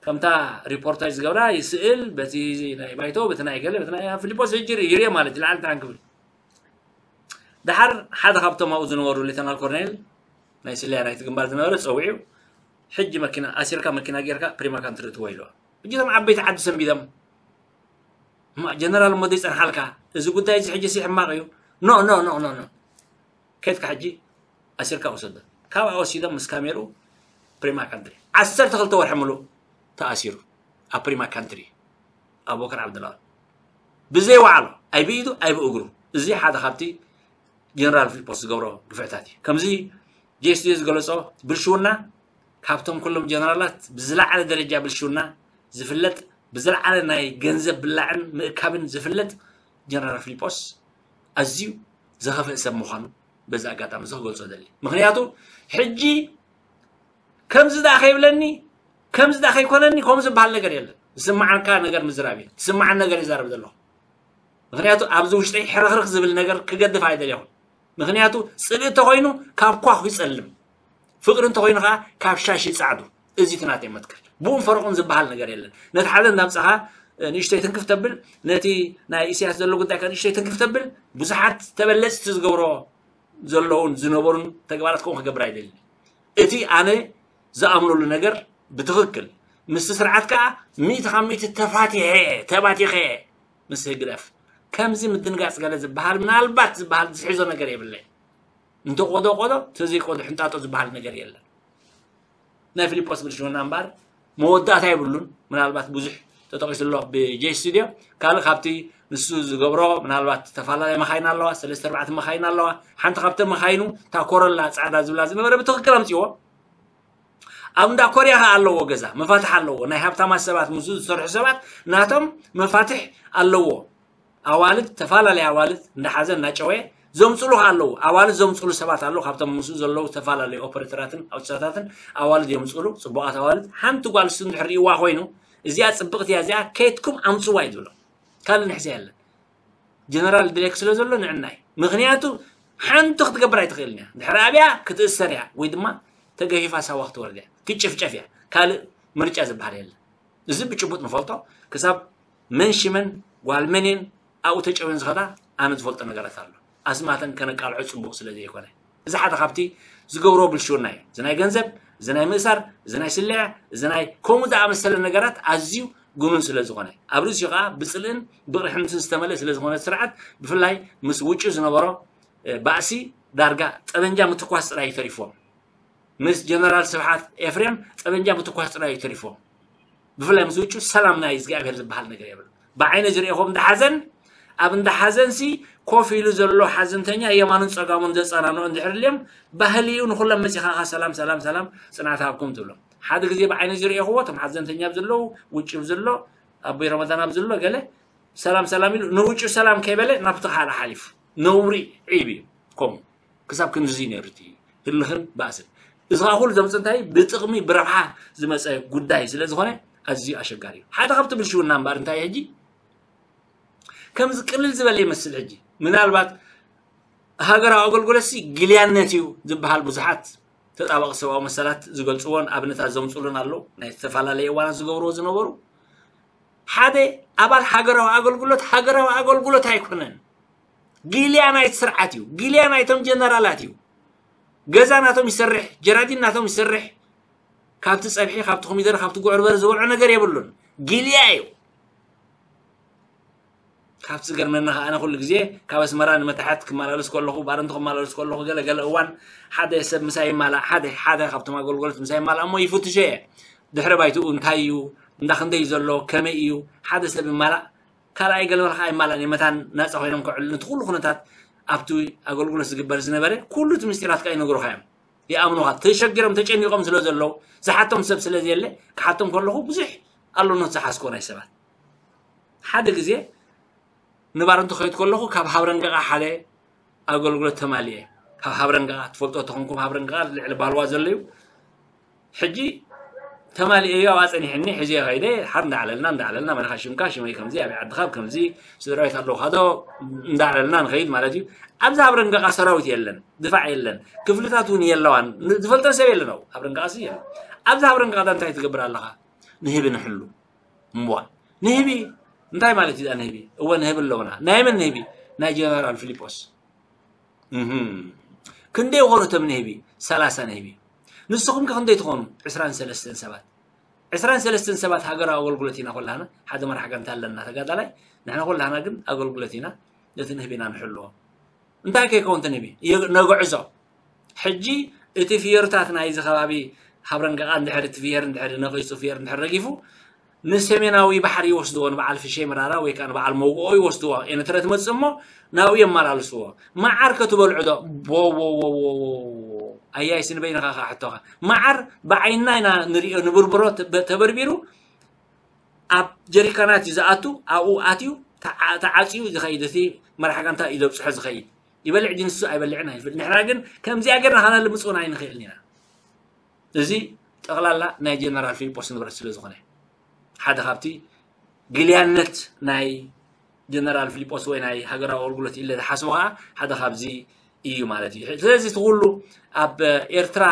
ከምታ ሪፖርተር ዝገብራ ይስእል በቲ ናይ ባይቶ በቲ ናይ ገለ በቲ ናይ ፊሊጶስ ይጅር ይርየ ማለት ይልዓል ትራን ክብል ድሓር ሓደ ካብቶም ኣብኡ ዝነበሩ ሌተናል ኮርኔል ናይ ስለያ ናይቲ ግንባር ዝነበረ ፀዊዑ ሕጂ መኪና ኣሲርካ መኪና ጌርካ ፕሪማ ካንትሪ እትዎ ኢልዋ ሕጂ እቶም ዓበይቲ ዓዲ ሰንቢዶም ጀነራል እሞ ዘይፀንሓልካ እዚ ጉዳይ እዚ ሕጂ ሲ ሕማቕ እዩ ኖ ኖ ኖ ኖ ኖ ከድካ ሕጂ ኣሲርካ ውሰዶ ካብኣ ወሲዶም ምስ ካሜርኡ ፕሪማ ካንትሪ ዓሰርተ ክልተ ወርሒ ምሉእ ተኣሲሩ ኣብ ፕሪማ ካንትሪ ኣቡበከር ዓብደላ ብዘይ ዋዕሎ ኣይ ብኢዱ ኣይ ብእግሩ እዚ ሓደ ካብቲ ጀነራል ፊልጶስ ዝገብሮ ግፍዕታት እዩ ከምዚ ጄስቲ ዝገለፆ ብልሽውና ካብቶም ኩሎም ጀነራላት ብዝለዓለ ደረጃ ብልሽውና ዝፍለጥ ብዝለዓለ ናይ ገንዘብ ብላዕን ምእካብን ዝፍለጥ ጀነራል ፊልጶስ ኣዝዩ ዘኸፍእ ሰብ ምዃኑ በዚ ኣጋጣሚ እዚ ክገልፆ ደሊ ምክንያቱ ሕጂ ከምዚ ደኣ ከይብለኒ ከምዚ ደኣ ከይኮነኒ ከምኡ ዝበሃል ነገር የለን ዝስማዓካ ነገር ምዝራብ እዩ ዝስማዓን ነገር ይዛረብ ዘለኹ ምክንያቱ ኣብዚ ውሽጠይ ሕርኽርኽ ዝብል ነገር ክገድፍ ኣይደልኹን ምክንያቱ ፅልኢ እንተኮይኑ ካብ ኳኹ ይፀልም ፍቅሪ እንተኮይኑ ከዓ ካብ ሻሽ ይፃዕዱ እዚ እቲ ናተይ መትከል ብኡን ፈረቁን ዝበሃል ነገር የለን ነቲ ሓደ እንዳምፃኻ ንእሽተይ ትንክፍ ተብል ነቲ ናይ ኢሳያስ ዘሎ ጉዳይ ከ ንእሽተይ ትንክፍ ተብል ብዙሓት ተበለፅቲ ዝገብሮ ዘለውን ዝነበሩን ተግባራት ከምኡ ክገብር ኣይደልን እቲ ኣነ ዝኣምነሉ ነገር ብትኽክል ምስቲ ስርዓት ከዓ ሚእቲ ካብ ሚእቲ ተፋቲሐ ተባቲኸ ምስ ህግደፍ ከምዚ ምድንጋፅ ገለ ዝበሃል ምናልባት ዝበሃል ዝሕዞ ነገር የብለይ እንተ ቆዶ ቆዶ ተዘይቆዶ ሕንጣጦ ዝበሃል ነገር የለን ናይ ፊልጶስ ብልሽውና እምበኣር መወዳእታ የብሉን ምናልባት ብዙሕ ተጠቂሱ ኣሎ ብጄ ስቱድዮ ካልእ ካብቲ ንሱ ዝገብሮ ምናልባት ዝተፈላለየ መኻይን ኣለዋ ሰለስተ ኣርባዕተ መኻይን ኣለዋ ሓንቲ ካብተን መኻይኑ እታ ኮረላ ፃዕዳ ዝብላ ዝነበረ ብትኽክል ኣምፅዎ ኣብ እንዳ ኮርያ ከዓ ኣለዎ ገዛ መፋትሕ ኣለዎ ናይ ሃብታማት ሰባት ምስ ዝሰርሑ ሰባት ናቶም መፋትሕ ኣለዎ ኣዋልድ ተፈላለየ ኣዋልድ እንዳሓዘ እናጨወየ ዘምፅሉ ከዓ ኣለዉ ኣዋልድ ዘምፅሉ ሰባት ኣለዉ ካብቶም ምስኡ ዘለዉ ዝተፈላለዩ ኦፐሬተራትን ኣውሳታትን ኣዋልድ የምፅሉ ፅቡቃት ኣዋልድ ሓንቲ ጓል እሱ እንድሕር ርእይዋ ኮይኑ እዚኣ ፅብቅቲ እያ እዚኣ ከየትኩም ኣምፅዋ እዩ ዝብሎ ካልእ ንሕዚ የለን ጀነራል ድሌክ ስለ ዘሎ ንዕናይ ምክንያቱ ሓንቲ ክትገብር ኣይትኽእልን እያ ድሕሪ ኣብያ ክትእሰር እያ ወይ ድማ ተገፊፋ ሳዋ ክትወርድ እያ ክትጭፍጨፍ እያ ካልእ ምርጫ ዝበሃል የለን እዚ ብጭቡጥ ንፈልጦ ክሳብ መን ሽመን ጓል መንን ኣብኡ ተጨውየን ዝኸዳ ኣነ ዝፈልጦ ነገራት ኣሎ ኣስማተን ከነቃልዖ ፅቡቅ ስለ ዘይኮነ እዚ ሓደ ካብቲ ዝገብሮ ብልሽውና እዩ እዚ ናይ ገንዘብ እዚ ናይ ምእሳር እዚ ናይ ስለያ እዚ ናይ ከምኡ ዝኣመሰለ ነገራት ኣዝዩ ግኑን ስለ ዝኾነ ኣብ ርእሲኡ ከዓ ብፅልእን ብቕርሕንትን ዝተመልአ ስለ ዝኾነ ስርዓት ብፍላይ ምስ ውጩ ዝነበሮ ባእሲ ዳርጋ ጠበንጃ ምትኳስ ጥራይ ተሪፎም ምስ ጀነራል ስብሓት ኤፍሬም ጠበንጃ ምትኳስ ጥራይ እዩ ተሪፎም ብፍላይ ምስ ውጩ ሰላም ናይ እግዚኣብሔር ዝበሃል ነገር የብሉ ብዓይነ ዝሪኦ ከም እንዳሓዘን ኣብ እንዳሓዘንሲ ኮፍ ኢሉ ዘሎ ሓዘንተኛ የማኑን ፀጋሙን ዘፀናንዑ እንድሕር ልዮም ባህሊ እዩ ንኩሎም መፂኻኻ ሰላም ሰላም ሰላም ፅናት ሃብኩም ትብሎም ሓደ ግዜ ብዓይነ ዝሪኦኽዎ እቶም ሓዘንተኛ ኣብ ዘለዉ ውጭ ኣብ ዘሎ ኣቦይ ረመዳን ኣብ ዘሎ ገለ ሰላም ሰላም ኢሉ ንውጭ ሰላም ከይበለ ናብቲ ካልእ ሓሊፉ ነውሪ ዒብ እዩ ከምኡ ክሳብ ክንድዚ ነይሩ እቲ ህልኽን ባእስን እዚ ከዓ ኩሉ ዘምፅ እንታይ ብጥቕሚ ብረብሓ ዝመፀ ጉዳይ ስለ ዝኾነ ኣዝዩ ኣሸጋሪ እዩ ሓደ ካብቲ ብልሽውና እምበኣር እንታይ ሕጂ ከምዚ ቅልል ዝበለ ይመስል ሕጂ ምናልባት ሃገራዊ ኣገልግሎትሲ ግልያነት እዩ ዝበሃል ብዙሓት ተጣበቂ ሰብኣዊ መሰላት ዝገልፅዎን ኣብነታት ዘምፅሉን ኣለዉ ናይ ዝተፈላለየ እዋናት ዝገብርዎ ዝነበሩ ሓደ ኣባል ሃገራዊ ኣገልግሎት ሃገራዊ ኣገልግሎት ኣይኮነን ጊልያ ናይቲ ስርዓት እዩ ጊልያ ናይቶም ጀነራላት እዩ ገዛ ናቶም ይሰርሕ ጀራዲን ናቶም ይሰርሕ ካብቲ ፀብሒ ካብቲ ኮሚደረ ካብቲ ጉዕርበረ ዝበልዖ ነገር የብሉን ጊልያ እዩ ካብቲ ዝገርመኒ ከኣ ኣነ ኩሉ ግዜ ካብ ኣስመራ ንመታሕት ክመላለስ ከለኹ፣ ባረንቱ ክመላለስ ከለኹ፣ ገለ ገለ እዋን ሓደ ሰብ ምሳይ ይማላእ፣ ሓደ ሓደ ካብቶም ኣገልግሎት ምሳይ ይማላእ እሞ ይፍትሾ እየ። ድሕረ ባይትኡ እንታይ እዩ፣ እንዳ ክንደይ እዩ ዘሎ፣ ከመይ እዩ፣ ሓደ ሰብ ይማላእ፣ ካልኣይ ገለ ከኣ ይማላእ፣ መታን ናጻ ኮይኖም ክዕሉ፣ ነቲ ኩሉ ኩነታት ኣብቲ ኣገልግሎት ዝግበር ዝነበረ ኩሉ እቲ ምስጢራት ከኣ ይነግሩኻ እዮም። ይኣምኑኻ፣ ተሸጊሮም ተጨኒቖም ስለ ዘለዉ፣ ዝሓቶም ሰብ ስለ ዘየለ፣ ክሓቶም ከለኹ ብዙሕ ኣሎኖት ዝሓዝኮ ናይ ሰባት። ሓደ ግዜ ንባረንቱ ከይድ ከለኹ ካብ ሃብረንገቓ ሓደ ኣገልግሎት ተማሊኤ። ካብ ሃብረንገቓ ትፈልጦ ተኾንኩም፣ ሃብረንገቓ ልዕሊ ባልዋ ዘሎ እዩ። ሕጂ ተማሊኤዮ ኣብኣ ጸኒሕኒ፣ ሕጂ ከይደ ሓር እንዳዕለልና እንዳዕለልና፣ መን ኢኻ ሽምካ፣ ሽመይ ከምዚ፣ ኣበይ ዓድኻ፣ ከምዚ፣ ስድራቤት ኣለውኻ ዶ፣ እንዳዕለልና ንኸይድ ማለት እዩ። ኣብዚ ሃብረንገቓ ሰራዊት የለን፣ ድፋዕ የለን፣ ክፍልታት እውን የለዋን፣ ን-፣ ዝፈልጠን ሰብ የለን። ኣብ ሃብረንገቓ ሲ የለን። ኣብዚ ሃብረንገቓ እንታይ ትገብር ኣለኻ? ንህቢ ንሕሉ። እምቧ። ንህቢ እንታይ ማለት እዩ ንህቢ? እወ ንህቢ ኣለውና። ናይ መን ንህቢ? ናይ ጀነራል ፊሊጶስ። እህም። ክንደይ ይኾኑ እቶም ንህቢ? ሰላሳ ንህቢ። ንስኹም ከ ክንደይ ትኾኑ? ዕስራን ሰለስተን ሰባት። ዕስራን ሰለስተን ሰባት ሃገራዊ ኣገልግሎት ኢና ኩላህና። ሓደ መራሕ ጋንታ ኣለና ተጋዳላይ። ንሕና ኩላህና ግን ኣገልግሎት ኢና። ነቲ ንህቢ ኢና ንሕልዎ። እንታይ ከይከውን እቲ ንህቢ? የ-፣ ነግዕዞ። ሕጂ እቲ ፍየርታት ናይዚ ከባቢ ሃብረንገቓ እንድሕር እቲ ፍየር እንድሕር ነቒጹ ፍየር እንድሕር ረጊፉ ንሰሜናዊ ባሕሪ ይወስድዎ፣ ንበዓል ፍሸይ መራራ ወይ ከኣ ንበዓል መውግኦ ይወስድዎ። ኤርትረ ትመጽእ እሞ ናብኡ የመላልስዎ። መዓር ከ ትበልዑ ዶ? ቦ፣ ቦ፣ ቦ፣ ቦ፣ ቦ። ኣያይ ስንበይንኻ ከኣ ሕቶኻ። መዓር ብዓይንና ኢና ንርእዮ፣ ንብርብሮ ተ-፣ ተበርቢሩ ኣብ ጀሪካናት እዩ ዝኣቱ፣ ኣብኡ ኣትዩ ተዓ-፣ ተዓጽዩ ዝኸይድ፣ እቲ መራሕ ጋንታ እዩ ዘብጽሖ ዝኸይድ። ይበልዕ ድዩ ንሱ ኣይበልዕን ኣይፍል። ንሕና ግን ከምዚኣ ጌርና ከነልምጽ እውን ኣይንኽእልን ኢና። እዚ ጠቕላላ ናይ ጀነራል ፊልጶስ ንብረት ስለ ዝኾነ፣ ሓደ ካብቲ ግልያነት ናይ ጀነራል ፊልጶስ ወይ ናይ ሃገራዊ ኣገልግሎት ኢለ ዝሓስቦ ከኣ ሓደ ካብዚ እዩ ማለት እዩ። ስለዚ እቲ ኩሉ ኣብ ኤርትራ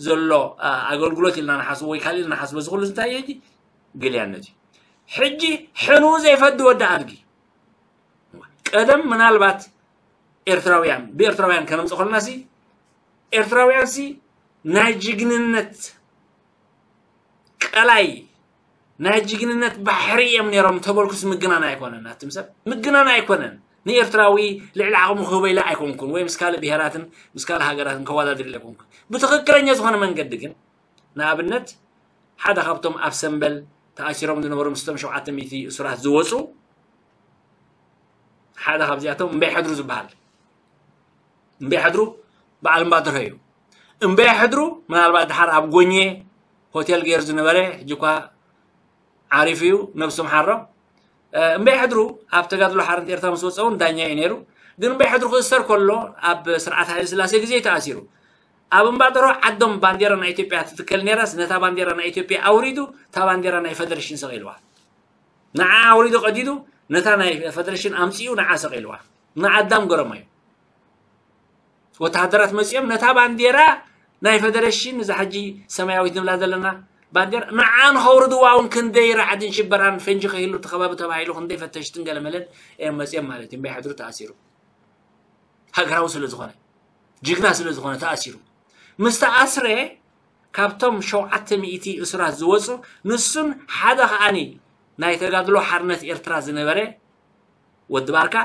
ዘሎ፣ ኣ፣ ኣገልግሎት ኢልና ንሓስቦ ወይ ካልእ ኢልና ንሓስቦ፣ እዚ ኩሉ እንታይ እዩ? ግልያነት እዩ። ሕጂ ሕኑ ዘይፈዲ ወዲ ኣድጊ። ቀደም ምናልባት ኤርትራውያን፣ ብኤርትራውያን ከነምጽእ ከለናሲ፣ ኤርትራውያንሲ ናይ ጅግንነት ቀላይ፣ ናይ ጅግንነት ባሕሪ እዮም ነይሮም ተበልኩስ ምግናን ኣይኮነን። ኣቱም ሰብ ምግናን ኣይኮነን። ንኤርትራዊ ልዕሊ ዓቕሙ ክህቦ ኢለ ኣይኮንኩን፣ ወይ ምስ ካልእ ብሄራትን ምስ ካልእ ሃገራትን ከወዳድር ኢለ ኣይኮንኩን። ብትኽክለኛ ዝኾነ መንገዲ ግን፣ ንኣብነት፣ ሓደ ካብቶም ኣብ ሰምበል ተኣሲሮም ዝነበሩ ምስቶም ሸውዓተ ሚእቲ እሱራት ዝወጹ፣ ሓደ ካብዚኣቶም እምበይ ሕድሩ ዝበሃል። እምበይ ሕድሩ በዓል እምባደርሆ እዩ። እምበይ ሕድሩ ምናልባት ድሓር ኣብ ጎኜ ሆቴል ገይሩ ዝነበረ፣ ሕጂ እኳ ዓሪፉ እዩ፣ ነብሱ ምሓሮ። እ፣ እምበይ ሕድሩ ኣብ ተጋድሎ ሓርነት ኤርትራ ምስ ወጸ እውን ዳኛ እዩ ነይሩ። ግን እምበይ ሕድሩ ክእሰር ከሎ ኣብ ስርዓት ሃይለ ስላሴ ግዜ እዩ ተኣሲሩ። ኣብ እምባደርሆ ዓዶም ባንዴራ ናይ ኢትዮጵያ ትትከል ነይራስ፣ ነታ ባንዴራ ናይ ኢትዮጵያ ኣውሪዱ፣ እታ ባንዴራ ናይ ፈደሬሽን ሰቒልዋ። ንዓ ኣውሪዱ ቀዲዱ፣ ነታ ናይ ፈደሬሽን ኣምጺኡ ንዓ ሰቒልዋ። ንኣዳም ገረሞ እዩ። ወተሃደራት መጺኦም ነታ ባንዴራ ናይ ፈደሬሽን፣ እዛ ሕጂ ሰማያዊት ንብላ ዘለና ባንዴራ፣ ንዓ ንኸውርድዋ እውን ክንደይ ራዕድን ሽበራን ፈንጂ ከይህሉ እቲ ከባቢ ተባሂሉ ክንደይ ፈተሽትን ገለመለን እዮም መጺኦም ማለት እዩ። እምበይ ሕድሩ ተኣሲሩ። ሃገራዊ ስለ ዝኾነ፣ ጅግና ስለ ዝኾነ ተኣሲሩ። ምስ ተኣስረ፣ ካብቶም ሸውዓተ ሚእቲ እሱራት ዝወጹ፣ ንሱን ሓደ ከኣኒ ናይ ተጋድሎ ሓርነት ኤርትራ ዝነበረ ወዲ ባርካ፣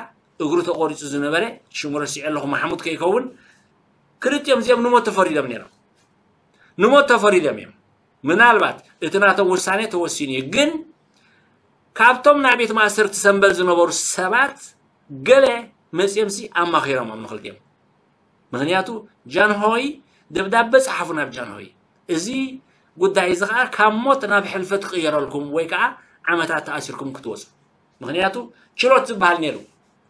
እግሩ ተቖሪጹ ዝነበረ፣ ሽሙ ረሲዐ ኣለኹ፣ ማሕሙድ ከይከውን፣ ክልቲኦም እዚኦም ንሞት ተፈሪዶም ነይሮም። ንሞት ተፈሪዶም እዮም። ምናልባት እቲ ናቶም ውሳኔ ተወሲኑ እዩ። ግን ካብቶም ናይ ቤት ማእሰርቲ ሰምበል ዝነበሩ ሰባት ገለ መጺኦምሲ ኣማኺሮሞም ንኽልቲኦም። ምኽንያቱ ጃንሆይ ደብዳበ ጸሓፉ ናብ ጃንሆይ። እዚ ጉዳይ እዚ ኸኣ ካብ ሞት ናብ ሕልፈት ክቕየረልኩም ወይ ከኣ ዓመታት ተኣሲርኩም ክትወጹ። ምኽንያቱ ችሎት ዝበሃል ነይሩ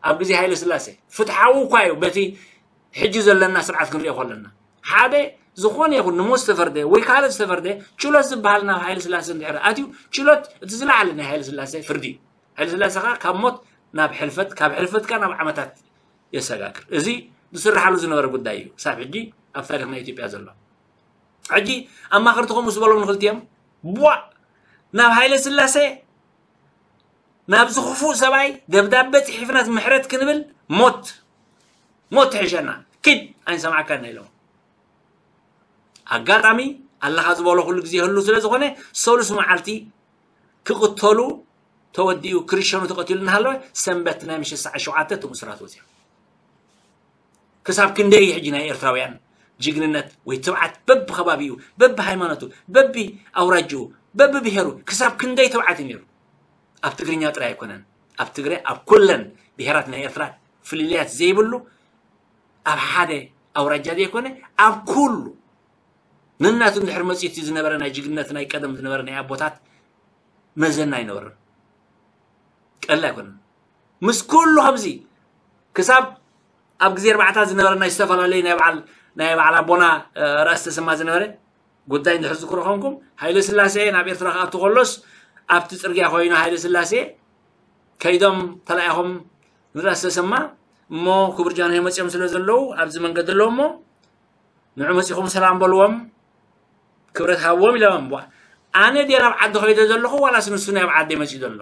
ኣብ ግዜ ሃይለ ስላሴ። ፍትሓዊ እኳ እዩ በቲ ሕጂ ዘለና ስርዓት ክንሪኦ ከለና። ሓደ ዝኾነ ይኹን ንሞት ዝተፈርደ ወይ ካልእ ዝተፈርደ ችሎት ዝበሃል ናብ ሃይለ ስላሴ እንድሕር ኣትዩ፣ ችሎት እቲ ዝለዓለ ናይ ሃይለ ስላሴ ፍርዲ እዩ። ሃይለ ስላሴ ኸኣ ካብ ሞት ናብ ሕልፈት፣ ካብ ሕልፈት ከኣ ናብ ዓመታት የሰጋግር። እዚ ዝስርሓሉ ዝነበረ ጉዳይ እዩ። ክሳብ ሕጂ ኣብ ታሪኽ ናይ ኢትዮጵያ ዘሎ። ሕጂ ኣማኸርቲ ከምኡ ዝበሎም ንኽልቲኦም፣ ቧዕ! ናብ ሃይለ ስላሴ፣ ናብዚ ክፉእ ሰብኣይ ደብዳበ ጽሒፍናስ ምሕረት ክንብል፣ ሞት፣ ሞት ትሕሸና፣ ኪድ፣ ኣይንሰማዕካን ኢሎም። ኣጋጣሚ ኣለኻ ዝበሎ ኩሉ ግዜ ይህሉ ስለ ዝኾነ፣ ሰሉስ መዓልቲ ክቕተሉ ተወዲኡ ክርሸኑ ተቐቲሉ እናሃለወ ሰንበት ናይ ምሸት ሰዓት ሸውዓተ እቶም እሱራት ወፂኦም። ክሳብ ክንደይ እዩ ሕጂ ናይ ኤርትራውያን ጅግንነት ወይ ትብዓት በብኸባቢኡ፣ በብሃይማኖቱ፣ በቢ ኣውራጅኡ፣ በብብሄሩ ክሳብ ክንደይ ትብዓት እዩ ነይሩ? ኣብ ትግርኛ ጥራይ ኣይኮነን። ኣብ ትግራይ፣ ኣብ ኩለን ብሄራት ናይ ኤርትራ ፍልልያት ዘይብሉ ኣብ ሓደ ኣውራጃ ዘይኮነ ኣብ ኩሉ ነናቱ እንድሕር መፂኡ እቲ ዝነበረ ናይ ጅግንነት ናይ ቀደም ዝነበረ ናይ ኣቦታት መዘና ኣይነበረን። ቀሊል ኣይኮነን። ምስ ኩሉ ከምዚ ክሳብ ኣብ ግዜ ኣርባዕታት ዝነበረ ናይ ዝተፈላለዩ ናይ በዓል ናይ በዓል ኣቦና እ፣ ራእሲ ተሰማ ዝነበረ ጉዳይ እንድሕር ዝክሮ ኮንኩም ሃይለ ስላሴ ናብ ኤርትራ ክኣቱ ከሎስ ኣብቲ ፅርግያ ኮይኑ ሃይለ ስላሴ ከይዶም ተላኢኾም ንራእሲ ተሰማ እሞ ክቡር ጃንሆይ መፂኦም ስለ ዘለዉ ኣብዚ መንገዲ ኣለዉ እሞ ንዑ መፂኹም ሰላም በልዎም ክብረት ሃብዎም ኢሎም። ኣነ ድየ ናብ ዓዲ ከይደ ዘለኹ ዋላስ ንሱ ናብ ዓዲ መፂኡ ዘሎ?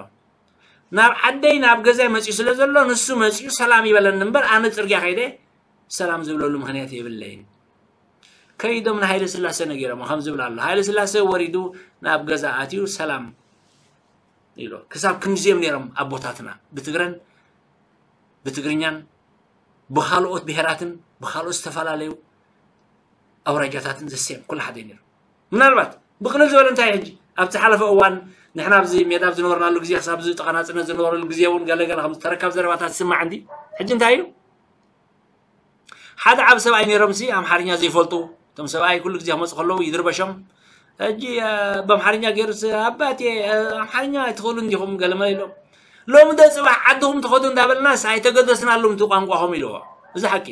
ናብ ዓደይ ናብ ገዛይ መፂኡ ስለ ዘሎ ንሱ መፂኡ ሰላም ይበለኒ እምበር ኣነ ፅርግያ ከይደ ሰላም ዝብለሉ ምኽንያት የብለይን። ከይዶም ንሃይለ ስላሴ ነጊሮም ከም ዝብል ኣሎ። ሃይለ ስላሴ ወሪዱ ናብ ገዛ ኣትዩ ሰላም ኢሎ። ክሳብ ክንድዚኦም ነይሮም ኣቦታትና ብትግረን ብትግርኛን ብካልኦት ብሄራትን ብካልኦት ዝተፈላለዩ ኣውራጃታትን ዘስዮም ኩሉ ሓደ ነይሩ። ምናልባት ብቕልል ዝበለ እንታይ ሕጂ ኣብ ዝሓለፈ እዋን ንሕና ኣብዚ ሜዳ ኣብ ዝነበርናሉ ግዜ ክሳብ ዝተቐናጽነ ዝነበረሉ ግዜ እውን ገለገለ ከም ተረካብ ዘረባታት ዝስማዕ እንዲ ሕጂ እንታይ እዩ ሓደ ዓብ ሰብኣይ ነይሮም ሲ ኣምሓርኛ ዘይፈልጡ እቶም ሰብኣይ ኩሉ ግዜ ክመፁ ከለዉ ይድርበሾም ሕጂ ብኣምሓርኛ ገይሩ ኣባቴ ኣምሓርኛ ኣይትኽእሉ እንዲኹም ገለመ ኢሎም ሎሚ ደ ፅባሕ ዓድኹም ትኸዱ እንዳበልናስ ኣይተገደስናሉም እቲ ቋንቋኹም ኢልዎ እዚ ሓቂ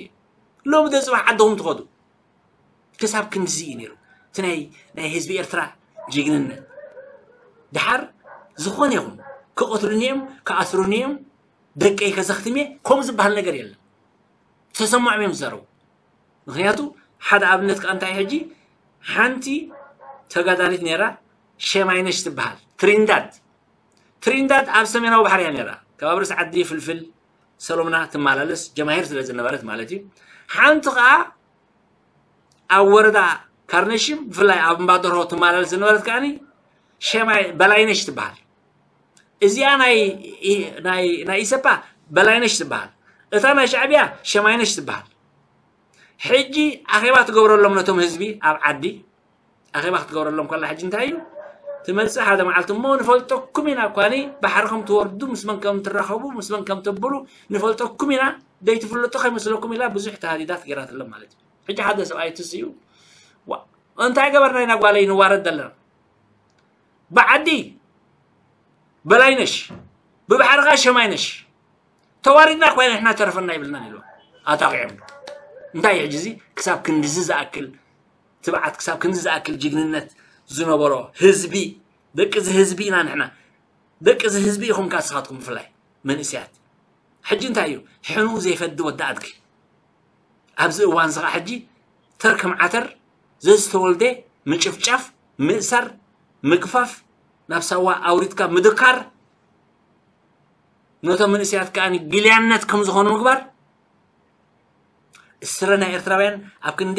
ሎሚ ደ ፅባሕ ዓድኹም ትኸዱ ክሳብ ክንድዚ እዩ ነይሩ እቲ ናይ ናይ ህዝቢ ኤርትራ ጅግንነት ድሓር ዝኾነ ይኹን ክቐትሉኒ እዮም ክኣስሩኒ እዮም ደቀይ ከዘኽትም እየ ከምኡ ዝበሃል ነገር የለን ተሰማዖም እዮም ዝዛረቡ ምክንያቱ ሓደ ኣብነት ከዓ እንታይ ሕጂ ሓንቲ ተጋዳሊት ነይራ ሸማይነሽ ትበሃል ትሪንዳድ ትሪንዳድ ኣብ ሰሜናዊ ባሕሪ እያ ነይራ ከባቢ ርእሲ ዓዲ ፍልፍል ሰሎምና ትመላለስ ጀማሂር ስለ ዝነበረት ማለት እዩ ሓንቲ ከዓ ኣብ ወረዳ ካርነሽም ብፍላይ ኣብ እምባደርሆ ትመላለስ ዝነበረት ከዓኒ ሸማይ በላይነሽ ትበሃል እዚኣ ናይ ናይ ናይ ኢሰፓ በላይነሽ ትበሃል እታ ናይ ሻዕብያ ሸማይነሽ ትበሃል ሕጂ ኣኼባ ትገብረሎም ነቶም ህዝቢ ኣብ ዓዲ ኣኼባ ክትገብረሎም ከላ ሕጂ እንታይ እዩ ትመፅእ ሓደ መዓልቲ እሞ ንፈልጠኩም ኢና እኳኒ ባሕሪ ከም ትወርዱ ምስ መን ከም ትራኸቡ ምስ መን ከም ተብሉ ንፈልጠኩም ኢና ደይትፍልጡ ከይመስለኩም ኢላ ብዙሕ ተሃዲዳት ገይራትሎም ማለት እዩ ሕጂ ሓደ ሰብኣይ ትስ እዩ እንታይ ገበርና ኢና ጓለይ ንዋረድ ዘለና ብዓዲ በላይነሽ ብባሕርኻ ሸማይነሽ ተዋሪድና እኳ ኢና ንሕና ተረፈና ይብልና ኢሉ ኣጣቂዖም እንታይ እዩ ሕጂ እዚ ክሳብ ክንድዚ ዝኣክል ትብዓት ክሳብ ክንዲ ዝኣክል ጅግንነት ዝነበሮ ህዝቢ ደቂ እዚ ህዝቢ ኢና ንሕና ደቂ እዚ ህዝቢ ኢኹም ካስኻትኩም ብፍላይ መንእሰያት ሕጂ እንታይ እዩ ሕኑ ዘይፈዲ ወዲ ኣድጊ ኣብዚ እዋን እዚ ከዓ ሕጂ ተር ከም ዓተር ዘዝተወልደ ምጭፍጫፍ ምእሳር ምግፋፍ ናብ ሳዋ ኣውሪድካ ምድካር ነቶም መንእሰያት ከዓ ግልያነት ከም ዝኾኑ ምግባር ስረ ናይ ኤርትራውያን ኣብ ክንዲ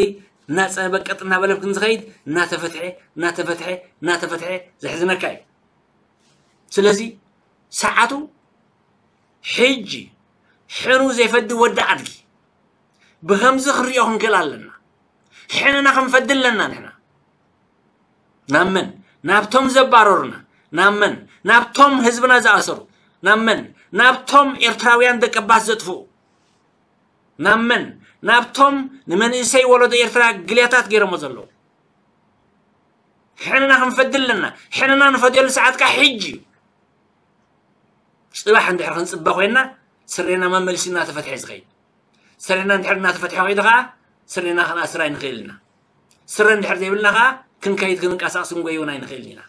እናፀበቀጥ እናበለ ክንዝኸይድ እናተፈትሐ እናተፈትሐ እናተፈትሐ ዘሕዝነካ እዩ ስለዚ ሰዓቱ ሕጂ ሕኑ ዘይፈዲ ወዲ ኣድጊ ብኸምዚ ክንሪኦ ክንክእል ኣለና ሕንና ክንፈዲ ኣለና ንሕና ናብ መን ናብቶም ዘባረሩና ናብ መን ናብቶም ህዝብና ዝኣሰሩ ናብ መን ናብቶም ኤርትራውያን ደቀባት ዘጥፍኡ ናብ መን ናብቶም ንመንእሰይ ወለዶ ኤርትራ ግልያታት ገይሮሞ ዘለዉ ሕንና ክንፈዲ ኣለና ሕንና ንፈድየሉ ሰዓት ከዓ ሕጂ እዩ ፅባሕ እንድሕር ክንፅበ ኮይና ስሬና መመልሲ እናተፈትሐ ዝኸይድ ስሬና እንድሕር እናተፈትሐ ከይዱ ከዓ ስሬና ክንኣስር ኣይንኽእል ኢና ስረ እንድሕር ዘይብልና ከዓ ክንከይድ ክንንቀሳቅስ ክንጎይውን ኣይንኽእል ኢና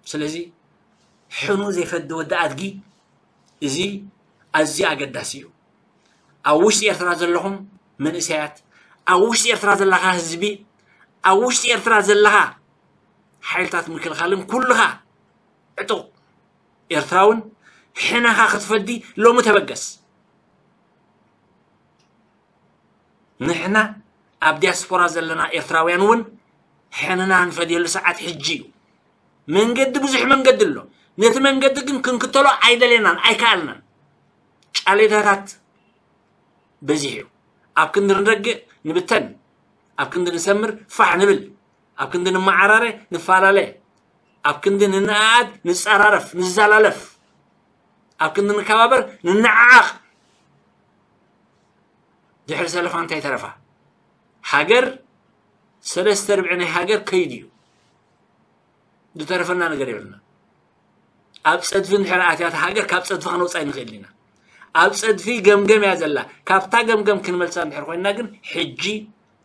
ስለዚ ሕኑ ዘይፈዲ ወዲ ኣድጊ እዚ ኣዝዩ ኣገዳሲ እዩ ኣብ ውሽጢ ኤርትራ ዘለኹም መንእሰያት ኣብ ውሽጢ ኤርትራ ዘለኻ ህዝቢ ኣብ ውሽጢ ኤርትራ ዘለኻ ሓይልታት ምክልኻልን ኩልኻ ዕጡቕ ኤርትራውን ሕነኻ ክትፈዲ ሎሚ ተበገስ ንሕና ኣብ ዲያስፖራ ዘለና ኤርትራውያን እውን ሕንና ንፈድየሉ ሰዓት ሕጂ እዩ መንገዲ ብዙሕ መንገዲ ኣሎ ነቲ መንገዲ ግን ክንክተሎ ኣይደለናን ኣይከኣልናን። ጫሌታታት በዚሕ እዩ። ኣብ ክንዲ ንረግእ ንብተን፣ ኣብ ክንዲ ንሰምር ፋሕ ንብል፣ ኣብ ክንዲ ንመዓራረ ንፈላለ፣ ኣብ ክንዲ ንነኣኣድ ንጸራረፍ ንዘላለፍ፣ ኣብ ክንዲ ንከባበር ንነዓዓቕ። ድሕሪ ሰለፋ እንታይ ተረፋ? ሃገር ሰለስተ ርብዒ ናይ ሃገር ከይዱ እዩ። ዝተረፈና ነገር የብልና። ኣብ ጸድፊ እንድሕር ኣትያት ሃገር ካብ ጸድፊ ከነውጻ ይንኽእል ኢና። ኣብ ጸድፊ ገምገም እያ ዘላ። ካብታ ገምገም ክንመልሳ እንድሕር ኮይና ግን ሕጂ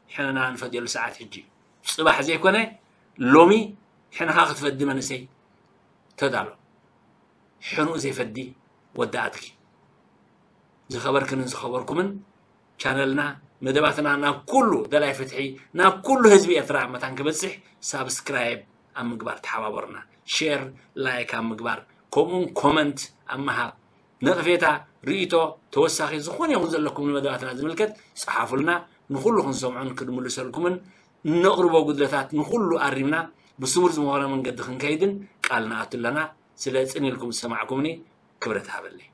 ሕነና ንፈድየሉ ሰዓት ሕጂ እዩ። ጽባሕ ዘይኮነ ሎሚ ሕነኻ ክትፈዲ መንእሰይ ተዳሎ። ሕኑኡ ዘይፈዲ ወዳኣትኪ። ዝኸበርክንን ዝኸበርኩምን ቻነልና መደባትና ናብ ኩሉ ደላይ ፍትሒ ናብ ኩሉ ህዝቢ ኤርትራ መታን ክበጽሕ ሳብስክራይብ ኣብ ምግባር ተሓባበሩና። ሼር ላይክ ኣብ ምግባር ከምኡን ኮመንት ኣብ ምሃብ ነቕፌታ ርእቶ ተወሳኺ ዝኾነ ይኹን ዘለኩም ንመደባትና ዝምልከት ጸሓፉልና። ንኹሉ ክንሰምዖን ክንምልሰልኩምን እነቕርቦ ጉድለታት ንኹሉ ኣሪምና ብስሙር ዝመኾነ መንገዲ ክንከይድን ቃል ንኣቱ ኣለና። ስለ ጽን ኢልኩም ዝሰማዕኩምኒ ክብረት ሃበለይ።